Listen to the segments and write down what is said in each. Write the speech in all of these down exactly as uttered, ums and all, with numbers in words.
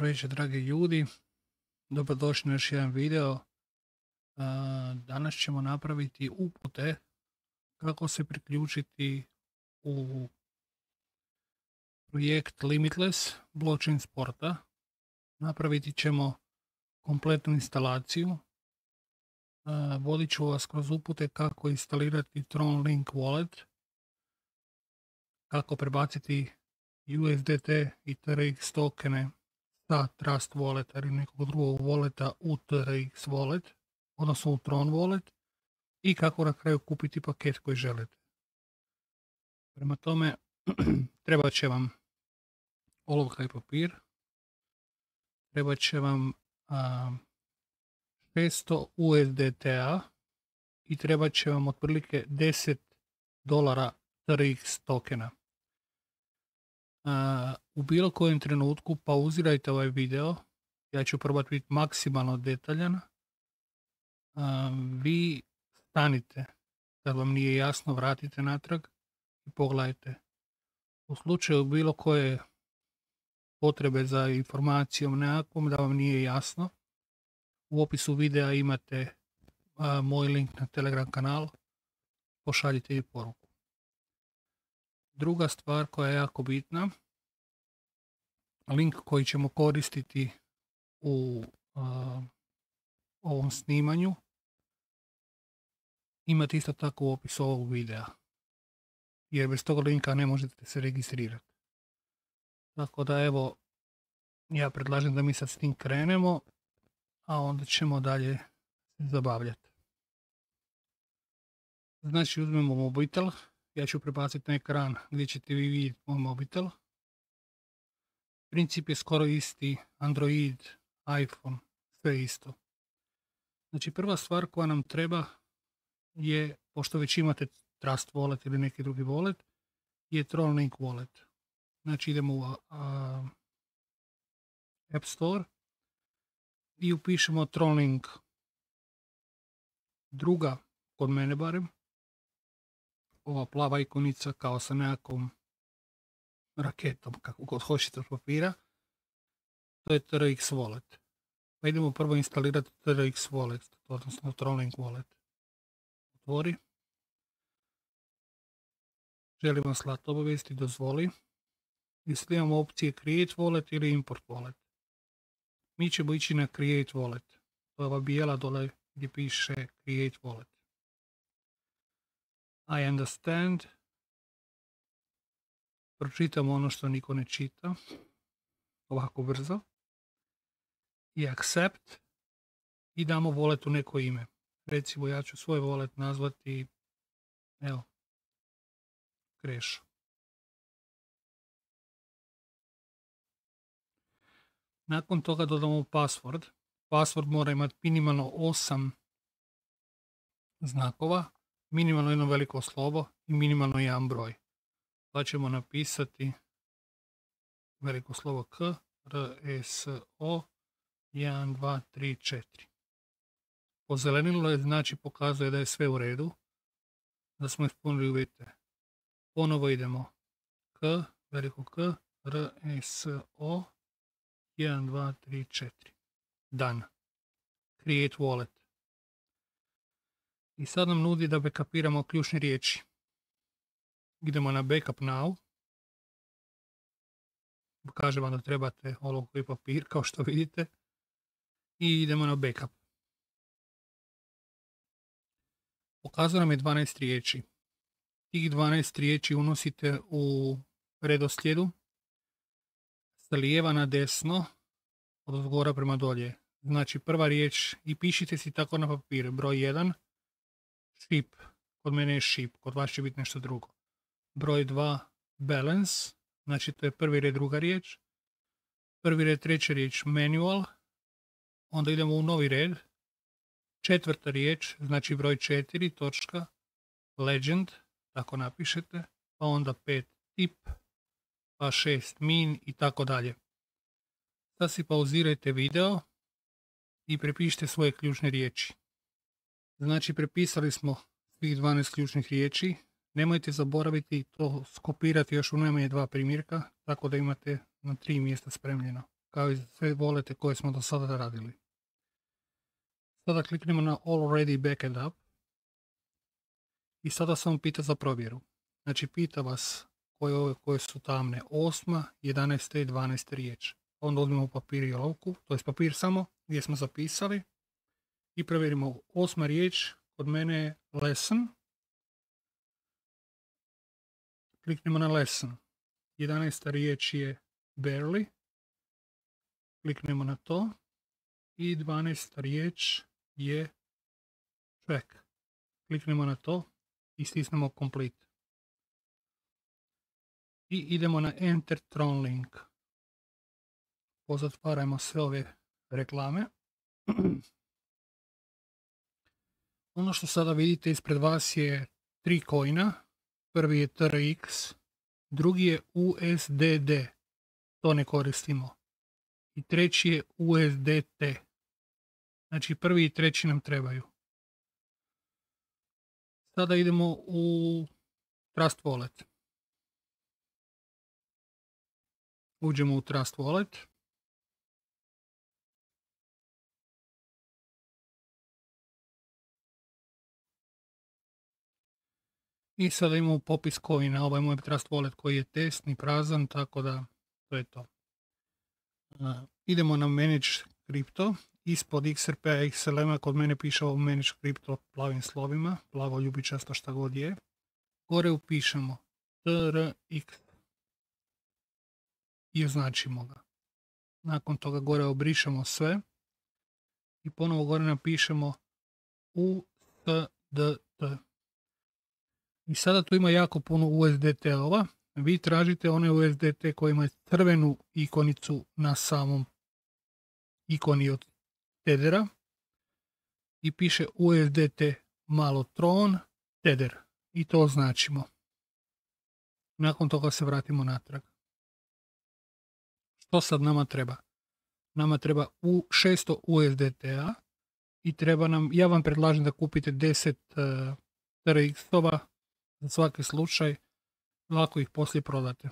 večer, dragi ljudi. Dobrodošli na još jedan video. Danas ćemo napraviti upute kako se priključiti u projekt Limitless blockchain sporta. Napraviti ćemo kompletnu instalaciju. Vodit ću vas kroz upute kako instalirati TronLink Wallet, kako prebaciti U S D T i T R X tokene sa Trust Walleta ili nekog drugog walleta u T R X Wallet, odnosno u Tron Wallet, i kako na kraju kupiti paket koji želite. Prema tome, treba će vam olovka i papir, treba će vam a, šesto U S D T-a i treba će vam otprilike deset dolara T R X tokena. Uh, u bilo kojem trenutku pauzirajte ovaj video, ja ću probati biti maksimalno detaljan. Uh, vi stanite, kad vam nije jasno vratite natrag i pogledajte. U slučaju bilo koje potrebe za informacijom nekakvom da vam nije jasno, u opisu videa imate uh, moj link na Telegram kanal, pošaljite mi poruku. Druga stvar koja je jako bitna, link koji ćemo koristiti u uh, ovom snimanju imate isto tako u opisu ovog videa, jer bez tog linka ne možete se registrirati. Tako da evo, ja predlažem da mi sad s tim krenemo, a onda ćemo dalje se zabavljati. Znači uzmemo mobitel. Ja ću prebaciti na ekran gdje ćete vi vidjeti moj mobitel. Princip je skoro isti, Android, iPhone, sve isto. Znači prva stvar koja nam treba je, pošto već imate Trust Wallet ili neki drugi wallet, je TronLink Wallet. Znači idemo u a, App Store i upišemo TronLink. Druga, kod mene barem, ova plava ikonica kao sa nekakvom raketom, kako god hoćete od papira, to je T R X Wallet. Pa idemo prvo instalirati T R X Wallet, odnosno TronLink Wallet. Otvori. Želimo slati obavijesti, dozvoli. I sad imamo opcije Create Wallet ili Import Wallet. Mi ćemo ići na Create Wallet. To je ova bijela dole gdje piše Create Wallet. I understand. Pročitamo ono što niko ne čita. Ovako brzo. I accept. I damo walletu neko ime. Recimo ja ću svoj wallet nazvati, evo, Krešo. Nakon toga dodamo password. Password mora imati minimalno osam znakova, minimalno jedno veliko slovo i minimalno jedan broj. Pa ćemo napisati veliko slovo K, R, S, O, jedan, dva, tri, četiri. Pozelenilo je, znači pokazuje da je sve u redu, da smo ispunili uvjete. Ponovo idemo K, veliko K, R, S, O, jedan, dva, tri, četiri. Done. Create wallet. I sad nam nudi da backupiramo ključne riječi. Idemo na Backup Now. Kaže vam da trebate olovku i papir, kao što vidite. I idemo na Backup. Pokazuje nam je dvanaest riječi. Tih dvanaest riječi unosite u redoslijedu sa lijeva na desno, od zgora prema dolje. Znači prva riječ, i pišite si tako na papir, broj jedan, ship, kod mene je ship, kod vas će biti nešto drugo. Broj dva, balance, znači to je prvi red, druga riječ. Prvi red, treća riječ, manual, onda idemo u novi red. Četvrta riječ, znači broj četiri, točka, legend, tako napišete, pa onda pet, tip, pa šest, min i tako dalje. Sad si pauzirajte video i prepišite svoje ključne riječi. Znači prepisali smo svih dvanaest ključnih riječi. Nemojte zaboraviti to skopirati još u najmanje dva primjerka, tako da imate na tri mjesta spremljeno. kao i sve volete koje smo do sada radili. Sada kliknemo na Already Backed Up i sada samo pita za provjeru. Znači pita vas koje ove koje su tamne, osma, jedanaesta i dvanaesta riječ. Onda uzmemo papir i olovku, to je papir samo gdje smo zapisali i provjerimo. Osma riječ kod mene je lesson. Kliknemo na lesson. jedanaesta riječ je barely. Kliknemo na to. I dvanaesta riječ je track. Kliknemo na to i stisnemo complete. I idemo na enter Tron link. Pozatvarajmo sve ove reklame. Ono što sada vidite ispred vas je tri coina. Prvi je T R X, drugi je U S D D, to ne koristimo. I treći je U S D T. Znači prvi i treći nam trebaju. Sada idemo u Trust Wallet. Uđemo u Trust Wallet. I sada imamo popis coina. Ovaj moj Trust Wallet koji je testni, prazan, tako da to je to. Uh, idemo na Manage Crypto. Ispod X R P-a X L M-a kod mene piše ovo Manage Crypto plavim slovima, plavo ljubičasto šta god je. Gore upišemo T R X i označimo ga. Nakon toga gore obrišemo sve i ponovo gore napišemo U S D T. I sada tu ima jako puno U S D T-ova. Vi tražite one U S D T koji imaju crvenu ikonicu na samom ikoni od Tethera i piše U S D T malo Tron Tether i to označimo. Nakon toga se vratimo natrag. Što sad nama treba? Nama treba u šesto U S D T-a i treba nam, ja vam predlažem da kupite deset uh, T R X-ova za svaki slučaj, lako ih poslije prodate.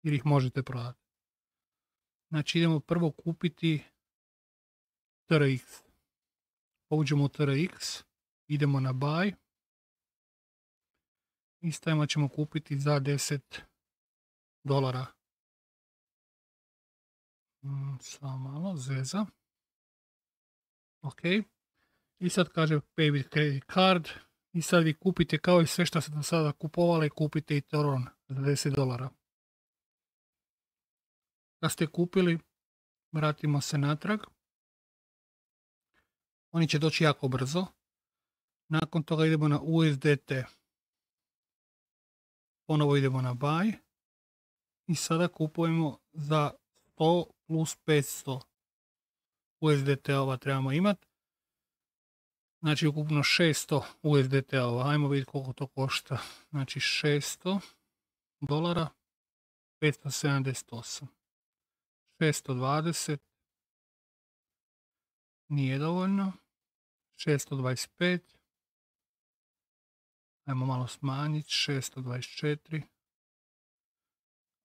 Jer ih možete prodati. Znači idemo prvo kupiti T R X. Uđemo u T R X, idemo na buy i stavimo ćemo kupiti za deset dolara. Mm, samo malo, zeza. Ok. I sad kaže pay with credit card. I sad vi kupite kao i sve što ste do sada kupovali, kupite i Tron za deset dolara. Kad ste kupili, vratimo se natrag. Oni će doći jako brzo. Nakon toga idemo na U S D T. Ponovo idemo na buy. I sada kupujemo za sto plus petsto. U S D T-ova trebamo imati. Znači ukupno šesto U S D T-ova. Ajmo vidjeti koliko to košta. Znači šesto dolara. petsto sedamdeset osam. šesto dvadeset. Nije dovoljno. šesto dvadeset pet. Ajmo malo smanjiti. šesto dvadeset četiri.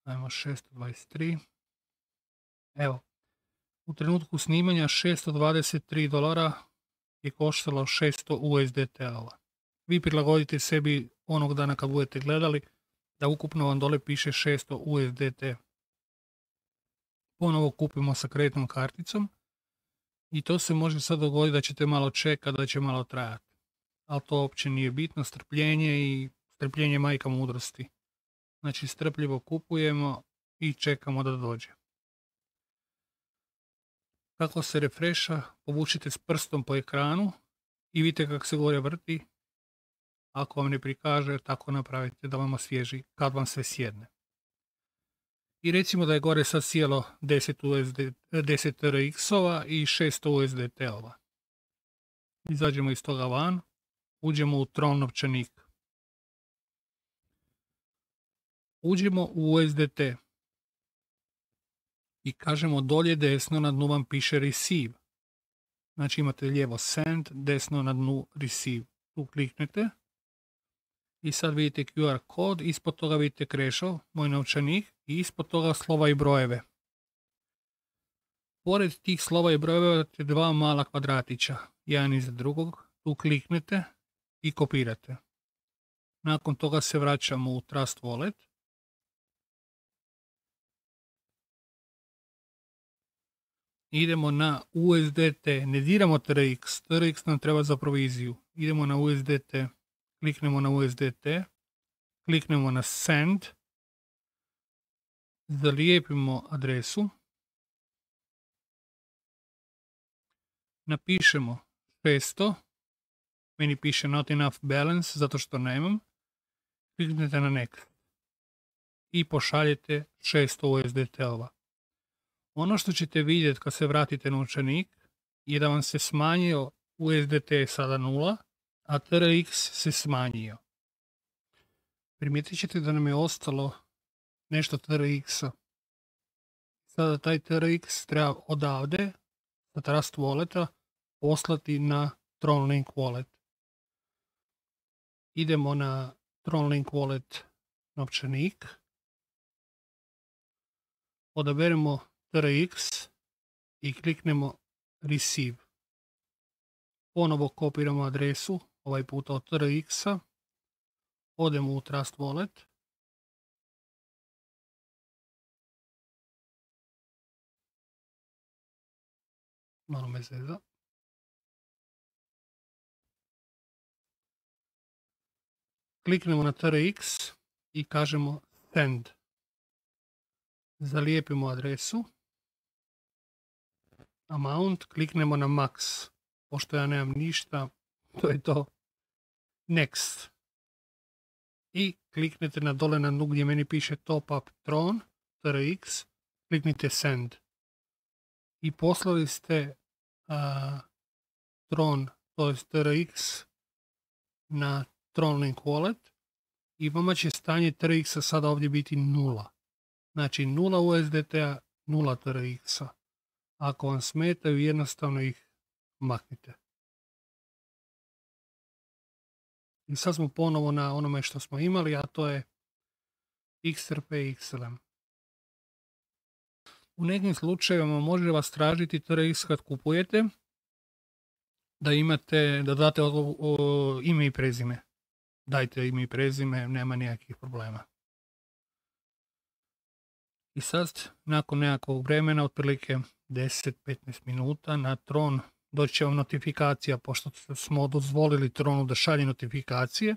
Ajmo šesto dvadeset tri. Evo. U trenutku snimanja šesto dvadeset tri dolara je koštalo šesto U S D T-ova. Vi prilagodite sebi onog dana kad budete gledali da ukupno vam dole piše šesto U S D T. Ponovo kupimo sa kreditnom karticom i to se može sad dogoditi da ćete malo čekati, da će malo trajati. Ali to uopće nije bitno, strpljenje i strpljenje majka mudrosti. Znači strpljivo kupujemo i čekamo da dođe. Kako se refresha, povučite s prstom po ekranu i vidite kako se gore vrti. Ako vam ne prikaže, tako napravite da vam osvježi kad vam sve sjedne. I recimo da je gore sad sjelo deset, U S D, deset T R X-ova i šesto U S D T-ova. Izađemo iz toga van, uđemo u Tron novčanik. Uđemo u U S D T. I kažemo dolje desno na dnu vam piše receive. Znači imate lijevo send, desno na dnu receive. Tu kliknete. I sad vidite Q R kod, ispod toga vidite Krešov, moj novčanik, i ispod toga slova i brojeve. Pored tih slova i brojeva imate dva mala kvadratića, jedan iza drugog, tu kliknete i kopirate. Nakon toga se vraćamo u Trust Wallet. Idemo na U S D T, ne diramo T R X, T R X nam treba za proviziju. Idemo na U S D T, kliknemo na U S D T, kliknemo na Send, zalijepimo adresu, napišemo šesto, meni piše not enough balance zato što nemam, kliknete na Next i pošaljete šesto U S D T-ova. Ono što ćete vidjeti kad se vratite na novčanik je da vam se smanjio U S D T je sada nula, a T R X se smanjio. Primijetit ćete da nam je ostalo nešto T R X-a. Sada taj T R X treba odavde, sa Trust Walleta, poslati na TronLink Wallet. Idemo na TronLink Wallet novčanik. Odaberemo T R X i kliknemo Receive. Ponovo kopiramo adresu, ovaj puta od T R X-a. Odemo u Trust Wallet. Malo me zeza. Kliknemo na T R X i kažemo Send. Zalijepimo adresu. Amount, kliknemo na Max. Pošto ja nemam ništa, to je to. Next. I kliknete na dole na dnu gdje meni piše Top Up Tron, T R X, kliknite Send. I poslali ste uh, Tron, to je T R X, na TronLink Wallet i vama će stanje T R X-a sada ovdje biti nula. Znači nula U S D T-a, nula T R X-a. Ako vam smetaju, jednostavno ih maknite. I sad smo ponovo na onome što smo imali, a to je X R P X L M. U nekim slučajevima može vas tražiti T R X kad kupujete da imate, da date o, o, ime i prezime. Dajte ime i prezime, nema nijakih problema. I sad, nakon nekakvog vremena, otprilike deset do petnaest minuta, na Tron doći će vam notifikacija, pošto smo dozvolili Tronu da šalje notifikacije,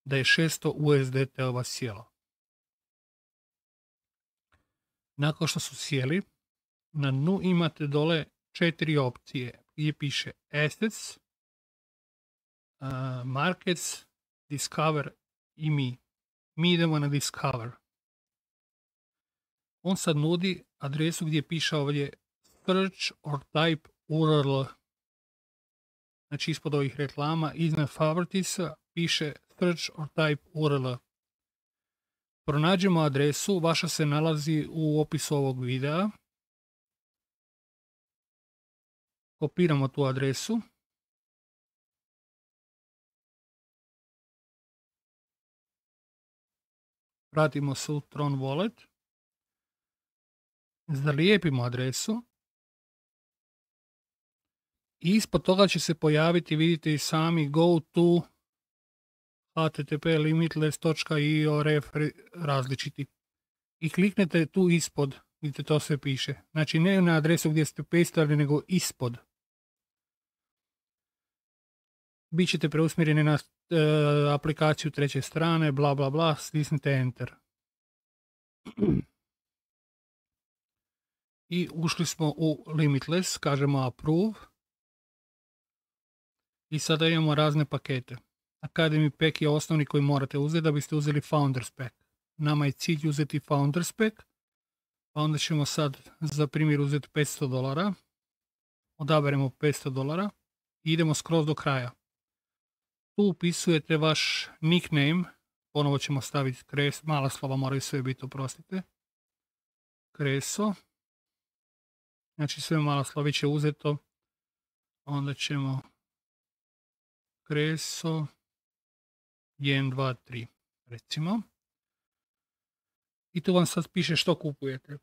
da je šesto U S D T-ova sjelo. Nakon što su sjeli, na dnu imate dole četiri opcije gdje piše Assets, uh, Markets, Discover i Mi. Mi idemo na Discover. On sad nudi adresu gdje piše ovdje Search or Type U R L. Znači ispod ovih reklama, iznad Favoritesa piše Search or Type U R L. Pronađemo adresu, vaša se nalazi u opisu ovog videa. Kopiramo tu adresu. Vratimo se u Tron Wallet. Zalijepimo adresu. I ispod toga će se pojaviti, vidite i sami, go to h t t p limitless točka i o ref različiti. I kliknete tu ispod, vidite to sve piše. Znači ne na adresu gdje ste pastali, nego ispod. Bićete preusmjereni na e, aplikaciju treće strane, bla bla bla, stisnite Enter. I ušli smo u Limitless, kažemo Approve. I sada imamo razne pakete. Academy Pack je osnovni koji morate uzeti da biste uzeli Founders Pack. Nama je cilj uzeti Founders Pack, pa onda ćemo sad za primjer uzeti petsto dolara. Odaberemo petsto dolara i idemo skroz do kraja. Tu upisujete vaš nickname, ponovo ćemo staviti kres, mala slova moraju sve biti, oprostite. Kreso. Znači sve mala sloviće uzeto. Onda ćemo Kreso jedan, dva, tri recimo. I tu vam sad piše što kupujete.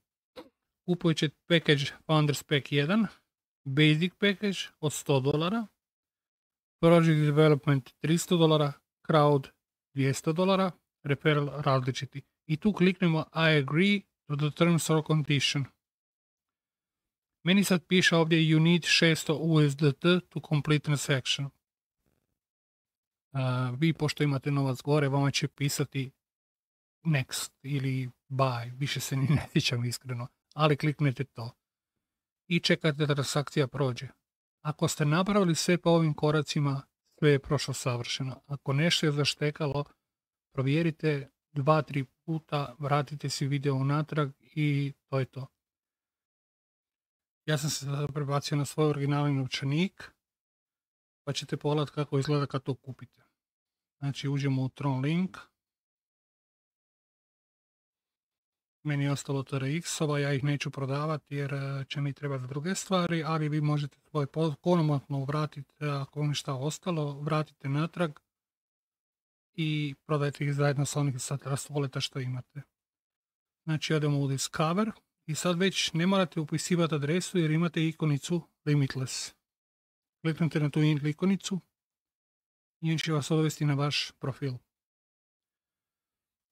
kupujete ćete package Founders Pack jedan, Basic package od sto dolara, Project Development tristo dolara, Crowd dvjesto dolara, Referral različiti. I tu kliknemo I agree to the terms or condition. Meni sad piše ovdje you need šesto U S D T to complete transaction. Uh, vi pošto imate novac gore, vama će pisati next ili buy, više se ni ne sjećam iskreno, ali kliknete to i čekate da transakcija prođe. Ako ste napravili sve po ovim koracima, sve je prošlo savršeno. Ako nešto je zaštekalo, provjerite dva, tri puta, vratite si video unatrag i to je to. Ja sam se sada prebacio na svoj originalni novčanik, pa ćete pogledati kako izgleda kad to kupite. Znači uđemo u Tron link. Meni je ostalo T R X-ova, ja ih neću prodavati jer će mi trebati druge stvari, ali vi možete svoj ponovno vratiti, ako vam je šta ostalo, vratite natrag i prodajte ih zajedno sa onih sa Trust Walleta što imate. Znači odemo u Discover i sad već ne morate upisivati adresu jer imate ikonicu Limitless. Kliknite na tu ikonicu i on će vas odvesti na vaš profil.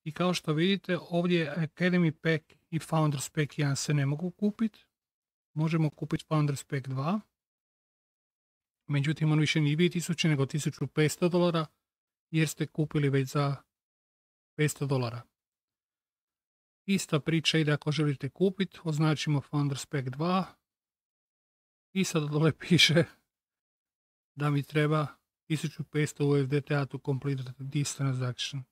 I kao što vidite, ovdje Academy Pack i Founders Pack jedan se ne mogu kupiti. Možemo kupiti Founders Pack dva. Međutim, on više nije dvije tisuće nego tisuću petsto dolara jer ste kupili već za petsto dolara. Ista priča ide ako želite kupiti. Označimo Founders Pack dva. I sad dole piše da mi treba tisuću petsto U S D T to complete this transaction.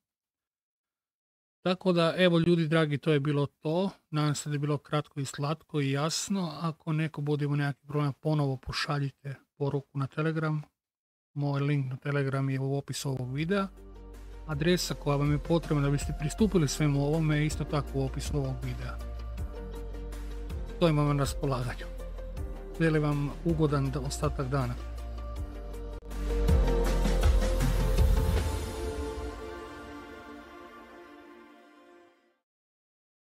Tako da, evo ljudi dragi, to je bilo to. Nadam se da je bilo kratko i slatko i jasno. Ako neko bude imao neki problem, ponovo pošaljite poruku na Telegram. Moj link na Telegram je u opisu ovog videa. Adresa koja vam je potrebna da biste pristupili svemu ovome je isto tako u opisu ovog videa. To imam na raspolaganju. Želim vam ugodan ostatak dana.